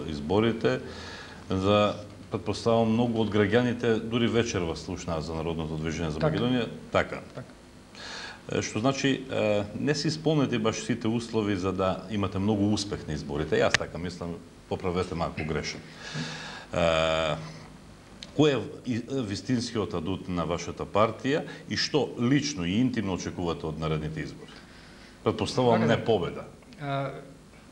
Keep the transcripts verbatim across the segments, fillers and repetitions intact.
изборите, за предпоставам многу од граѓаните дури вечерва слушнаат за Народното движење за Македонија, така. така. Што значи не си исполнети баш сите услови за да имате многу успех на изборите. Јас така мислам, поправете малку грешен. Кој е вистинскиот адут на вашата партија и што лично и интимно очекувате од наредните избори? Предпоставам не победа.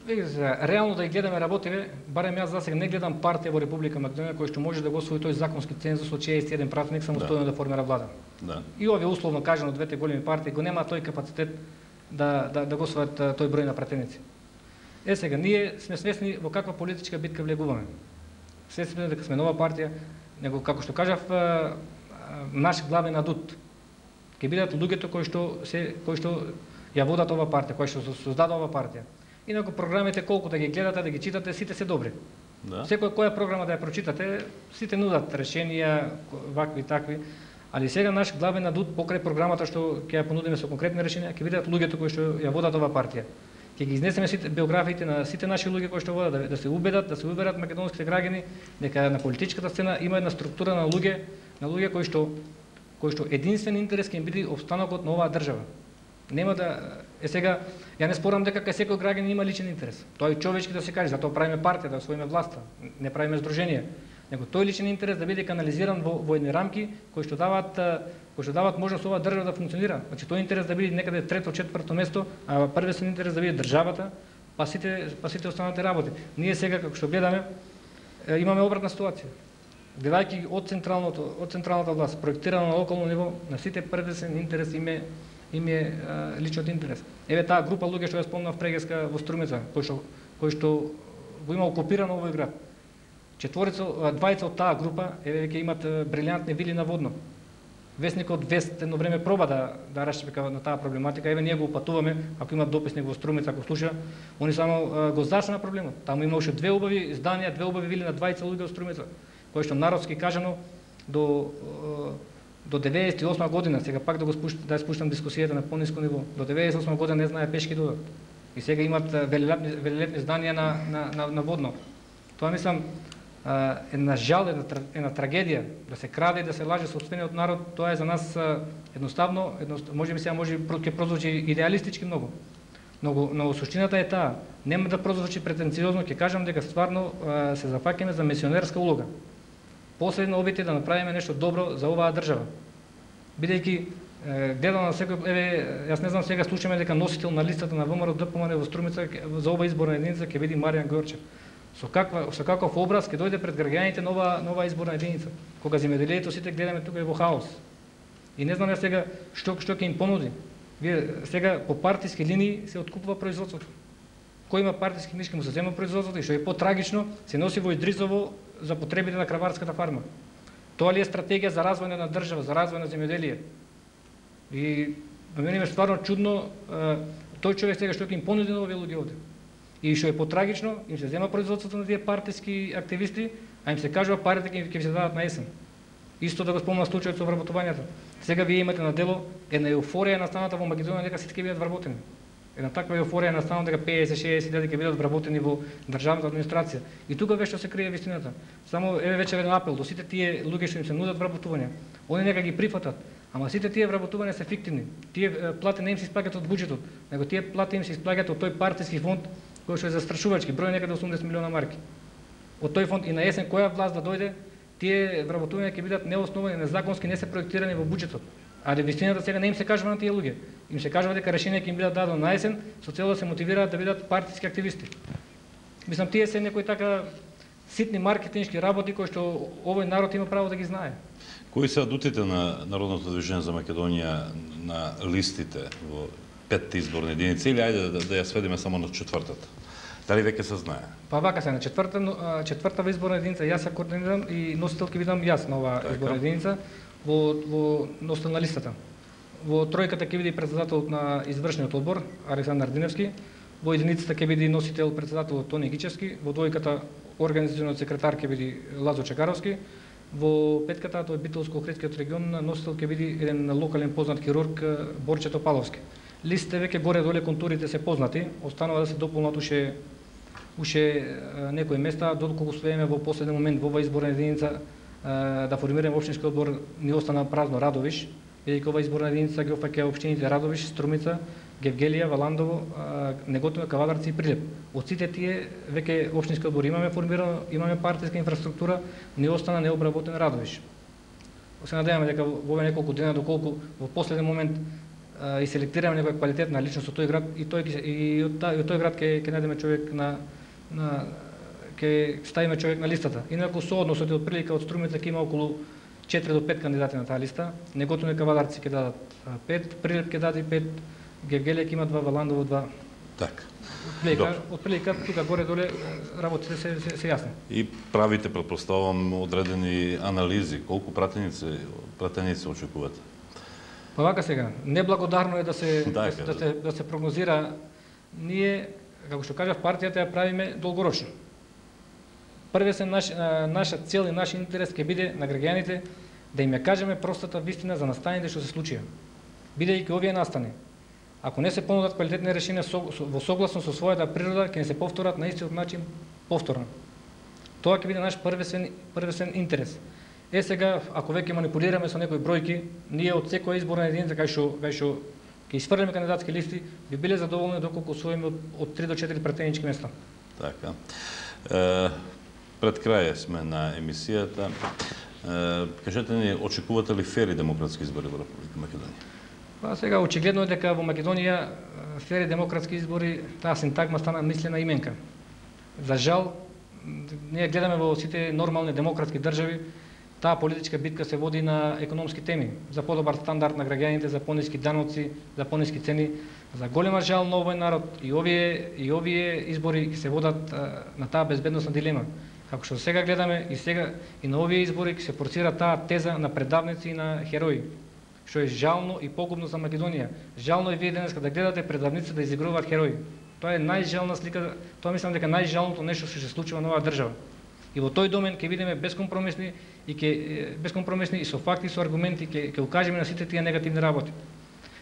Реално да ги гледаме работиве, барем јас за сега не гледам партија во Република Македонија кој што може да го освои тој законски цензус од шеесет и еден пратеник самостојно да, да формира влада. Да. И овие условно кажано двете големи партии го нема тој капацитет да да да го освојат тој број на пратеници. Е сега ние сме свесни во каква политичка битка влегуваме. Свесни сме дека сме нова партија, него како што кажав наш главен адут ќе бидат луѓето кои што се кои што ја водат ова партија, кои што создаде ова партија. Инаку програмите колку да ги гледате, да ги читате, сите се добри. Да. Секоја која програма да ја прочитате, сите нудат решенија, вакви такви, али сега наш главен адут покрај програмата што ќе ја понудиме со конкретни решенија, ќе бидат луѓето кои што ја водат ова партија. Ќе ги изнесеме сите биографиите на сите наши луѓе кои што водат, да, да се убедат, да се убедат македонските граѓани дека на политичката сцена има една структура на луѓе, на луѓе кои што кои што единствен интерес ќе им биде опстанокот на оваа држава. Нема да е сега ја не спорам дека кај секој граѓанин има личен интерес. Тоа е човечки да се каже, затоа правиме партија, да освоиме власта, не правиме здружение. Него тој личен интерес да биде канализиран во во едни рамки кои што даваат кои што даваат можност ова држава да функционира. Значи тој интерес да биде некаде трето, четврто место, а првен интерес да биде државата, па сите па сите останати работи. Ние сега како што гледаме имаме обратна ситуација. Гледајќи од централното од централната власт, проектирано на локално ниво, на сите првен интерес име им е личниот интерес. Еве таа група луѓе што ја спомнав прегеска во Струмица, кои што кои што го има окупирано овој град. Четворица, двајца од таа група еве веќе имат брилјантни вили на Водно. Весникот Вест едно време проба да да расчепка на таа проблематика. Еве ние го упатуваме, ако имат дописник во Струмица, ако слуша, они само го зашна проблемот. Таму имаше две убави зданија, две убави вили на двајца луѓе од Струмица, кои што народски кажано до до деветдесет и осма година, сега пак да го спуштам, да спуштам дискусијата на пониско ниво, до деветдесет и осма година не знае пешки додат. И сега имат велелепни, велелепни зданија на, на, на, на Водно. Тоа мислам една жал, една, една трагедија, да се краде и да се лаже сопствениот народ, тоа е за нас едноставно, едноставно може би сега може ќе прозвучи идеалистички многу. Но, но суштината е таа, нема да прозвучи претенциозно, ќе кажам дека стварно се зафаќаме за мисионерска улога. Последно обите да направиме нешто добро за оваа држава. Бидејќи гледам на секој, еве, јас не знам сега слушаме дека носител на листата на ВМРО ДПМН во Струмица за ова изборна единица ќе биде Маријан Гојорчев. Со каква со каков образ ќе дојде пред граѓаните нова нова изборна единица, кога земјоделието сите гледаме тука е во хаос. И не знам ја сега што што ќе им понуди. Вие сега по партиски линии се откупува производството. Кој има партиски книжки му се зема производството и што е потрагично се носи во Идризово за потребите на краварската фарма. Тоа ли е стратегија за развој на држава, за развој на земјоделие? И на мене е стварно чудно тој човек сега што ќе им понуди на овие луѓе овде. И што е потрагично, им се зема производството на тие партиски активисти, а им се кажува парите ќе ќе се дадат на есен. Исто да го спомнам случајот со вработувањето. Сега вие имате на дело една еуфорија настаната во Македонија дека сите ќе бидат вработени. Една таква еуфорија настана дека петдесет до шеесет илјади ќе бидат вработени во државната администрација. И тука веќе се крие вистината. Само еве вече еден апел до сите тие луѓе што им се нудат вработувања. Они нека ги прифатат. Ама сите тие вработувања се фиктивни. Тие плати не им се исплаќаат од буџетот, него тие плати им се исплаќаат од тој партиски фонд кој што е застрашувачки, број некаде осумдесет милиона марки. Од тој фонд и на есен која власт да дојде, тие вработувања ќе бидат неосновани, незаконски, не се проектирани во буџетот. А вистината сега не им се кажува на тие луѓе. Им се кажува дека решенија ќе им бидат дадено на есен, со цел да се мотивираат да бидат партиски активисти. Мислам, тие се некои така ситни маркетиншки работи кои што овој народ има право да ги знае. Кои се адутите на Народното движење за Македонија на листите во петте изборни единици или ајде да, да ја сведеме само на четвртата? Дали веќе се знае? Па вака се на четврта четвртава изборна единица јас ја координирам и носител ќе бидам јас на оваа изборна единица во во носител на листата. Во тројката ќе биде председател на извршниот одбор Александар Диневски, во единицата ќе биде носител председател Тони Гичевски, во двојката организациониот секретар ќе биде Лазо Чекаровски, во петката тоа е Битолско-Охридскиот регион носител ќе биде еден локален познат хирург Борче Топаловски. Листите веќе горе доле контурите се познати, останува да се дополнат уште уште некои места, доколку успееме во последен момент во оваа изборна единица да формираме општински одбор, ни остана празно Радовиш, бидејќи ова изборна единица ги опфаќа општините Радовиш, Струмица, Гевгелија, Валандово, Неготино, Кавадарци и Прилеп. Од сите тие веќе општински одбор имаме формирано, имаме партиска инфраструктура, ни остана необработен Радовиш. Се надеваме дека во овие неколку дена, доколку во последен момент и селектираме некоја квалитетна личност од тој град, и тој и од тој град ќе ќе најдеме човек на на ќе ставиме човек на листата. Инаку со односот од прилика од Струмица ќе има околу четири до пет кандидати на таа листа. Неготино и Кавадарци ќе дадат пет, Прилеп ќе даде пет, Гевгелија ќе има два, Валандово два. Така. Од прилика тука горе-доле работите се, се, се јасни. И правите, предпоставам, одредени анализи. Колку пратеници, пратеници очекувате? Па вака сега, неблагодарно е да се, да, да, да, се, да се прогнозира. Ние, како што кажав, партијата ја правиме долгорочно. Првесен наш, наша цел и наш интерес ќе биде на граѓаните да им ја кажеме простата вистина за настаните што се случија. Бидејќи овие настани, ако не се понудат квалитетни решенија со, со, во согласно со својата природа, ќе не се повторат на истиот начин повторно. Тоа ќе биде наш првесен, првесен интерес. Е сега, ако веќе манипулираме со некои бројки, ние од секоја изборна единица кај што кај што ќе изфрлиме кандидатски листи, би биле задоволни доколку освоиме од, од три до четири пратенички места. Така. Е, пред крај сме на емисијата. Е, кажете ни, очекувате ли фери демократски избори во Република Македонија? Па сега очигледно е дека во Македонија фери демократски избори, таа синтагма стана мислена именка. За жал, ние гледаме во сите нормални демократски држави, таа политичка битка се води на економски теми, за подобар стандард на граѓаните, за пониски даноци, за пониски цени. За голема жал на овој народ и овие и овие избори се водат а, на таа безбедносна дилема. Како што сега гледаме и сега и на овие избори ќе се форсира таа теза на предавници и на херои, што е жално и погубно за Македонија. Жално е вие денеска да гледате предавници да изигруваат херои. Тоа е најжална слика, тоа мислам дека најжалното нешто што се случува на оваа држава. И во тој домен ќе видиме безкомпромисни и ќе безкомпромисни и со факти и со аргументи ќе ќе укажеме на сите тие негативни работи.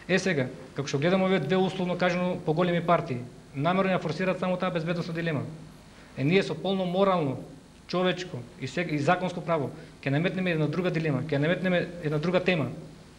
Е сега, како што гледаме овие две условно кажано поголеми партии, намерно ја форсираат само таа безбедносна дилема. Е ние со полно морално, човечко и сега и законско право ќе наметнеме една друга дилема, ќе наметнеме една друга тема.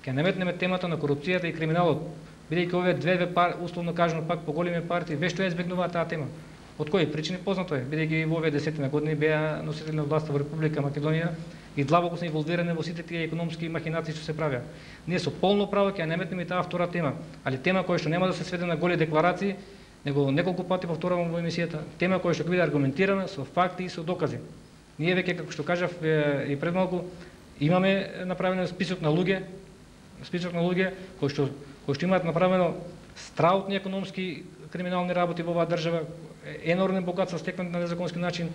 Ќе наметнеме темата на корупцијата и криминалот, бидејќи овие две пар, условно кажано пак поголеми партии вешто ја избегнуваат таа тема. Од кои причини познато е, бидејќи во овие десетина години беа носители на власта во Република Македонија и длабоко се инволвирани во сите тие економски махинации што се правеа. Ние со полно право ќе ја наметнеме таа втора тема, али тема која што нема да се сведе на голи декларации, него неколку пати повторувам во емисијата, тема која што ќе биде аргументирана со факти и со докази. Ние веќе, како што кажав и пред малку, имаме направен список на луѓе, список на луѓе кои што кои што имаат направено страутни економски криминални работи во оваа држава, енормни богатства стекнати на незаконски начин,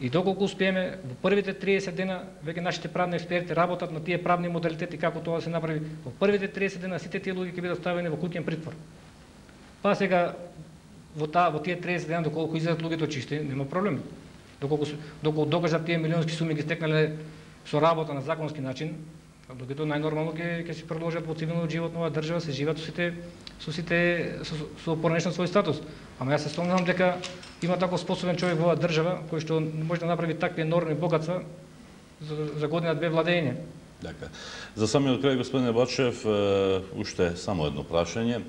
и доколку успееме во првите триесет дена, веќе нашите правни експерти работат на тие правни модалитети како тоа да се направи. Во првите триесет дена сите тие луѓе ќе бидат ставени во куќен притвор. Па сега во таа во тие триесет дена доколку излезат луѓето чисти, нема проблем. Доколку доколку докажат тие милионски суми ги стекнале со работа на законски начин, луѓето најнормално ќе ќе се продолжат во цивилниот живот на оваа држава, се живеат со сите со сите со, со поранешен свој статус. Ама јас се сомневам дека има таков способен човек во оваа држава кој што може да направи такви енормни богатства за, за година две владење. Така. За самиот крај, господине Бачев, уште само едно прашање.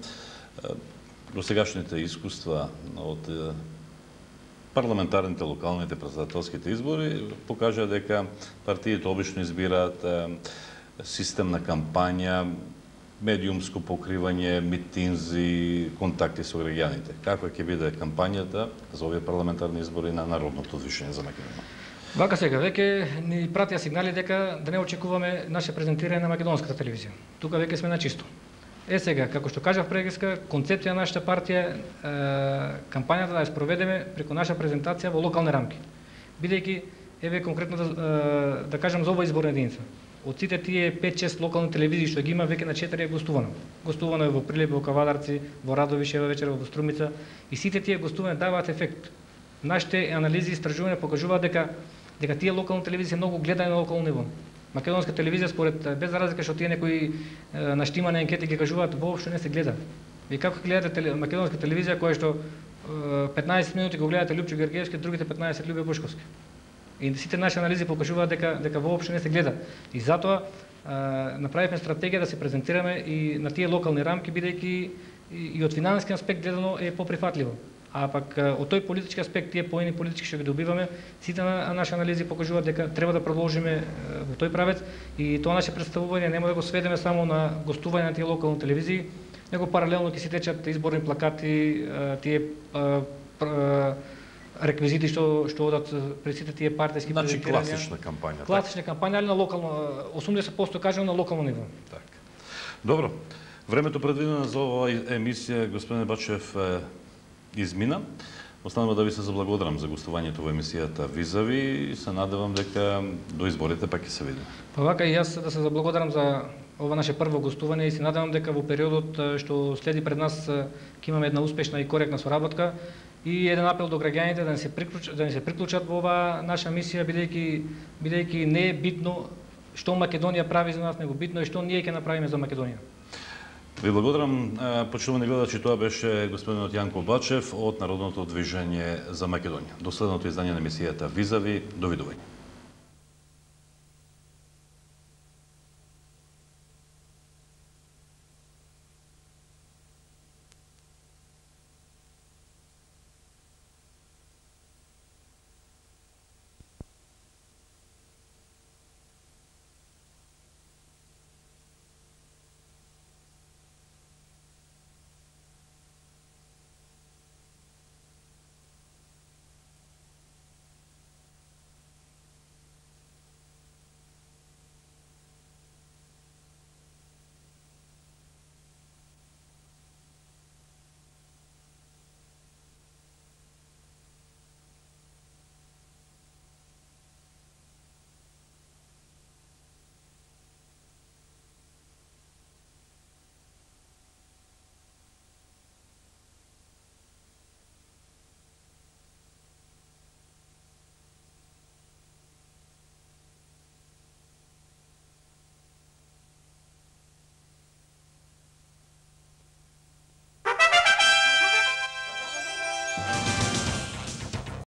Досегашните искуства од парламентарните, локалните, претседателските избори покажа дека партиите обично избираат систем на кампања, медиумско покривање, митинзи, контакти со граѓаните. Каква ќе биде кампањата за овие парламентарни избори на Народното движење за Македонија? Вака сега, веќе ни пратија сигнали дека да не очекуваме наше презентирање на македонската телевизија. Тука веќе сме на чисто. Е сега, како што кажав прегиска, концепција на нашата партија е кампањата да ја спроведеме преку наша презентација во локални рамки. Бидејќи, еве конкретно да, да кажам за оваа изборна единица. Од сите тие пет-шест локални телевизии што ги има, веќе на четири е гостувано. Гостувано е во Прилеп, во Кавадарци, во Радовиш, еве вечер во Струмица, и сите тие гостувања даваат ефект. Нашите анализи и истражувања покажуваат дека дека тие локални телевизии се многу гледани на локално ниво. Македонска телевизија, според, без разлика што тие некои наштимани анкети ги кажуваат, воопшто не се гледа. И како гледате теле, македонска телевизија која што петнаесет минути го гледате Лјупчо Георгиевски, другите петнаесет Љубе Бушковски. И сите наши анализи покажуваат дека дека воопшто не се гледа. И затоа направивме стратегија да се презентираме и на тие локални рамки, бидејќи и од финансиски аспект гледано е поприфатливо. А пак од тој политички аспект, тие поени политички што ги добиваме, сите наши анализи покажуваат дека треба да продолжиме во тој правец и тоа наше представување нема да го сведеме само на гостување на тие локални телевизии, него паралелно ќе се течат изборни плакати, тие реквизити што што одат пред сите тие партиски презентирања. Значи класична кампања. Класична так? кампања, али на локално, осумдесет проценти кажано на локално ниво. Так. Добро. Времето предвидено за оваа емисија, господине Бачев, измина. Останува да ви се заблагодарам за гостувањето во емисијата Визави и се надевам дека до изборите пак ќе се видиме. Па вака и јас да се заблагодарам за ова наше прво гостување и се надевам дека во периодот што следи пред нас ќе имаме една успешна и коректна соработка и еден апел до граѓаните да не се приклучат, да не се приклучат во оваа наша мисија, бидејќи бидејќи не е битно што Македонија прави за нас, него битно е што ние ќе направиме за Македонија. Ви благодарам, почитувани гледачи, тоа беше господинот Јанко Бачев од Народното движење за Македонија. До следното издание на емисијата Визави, довидување. Thank you.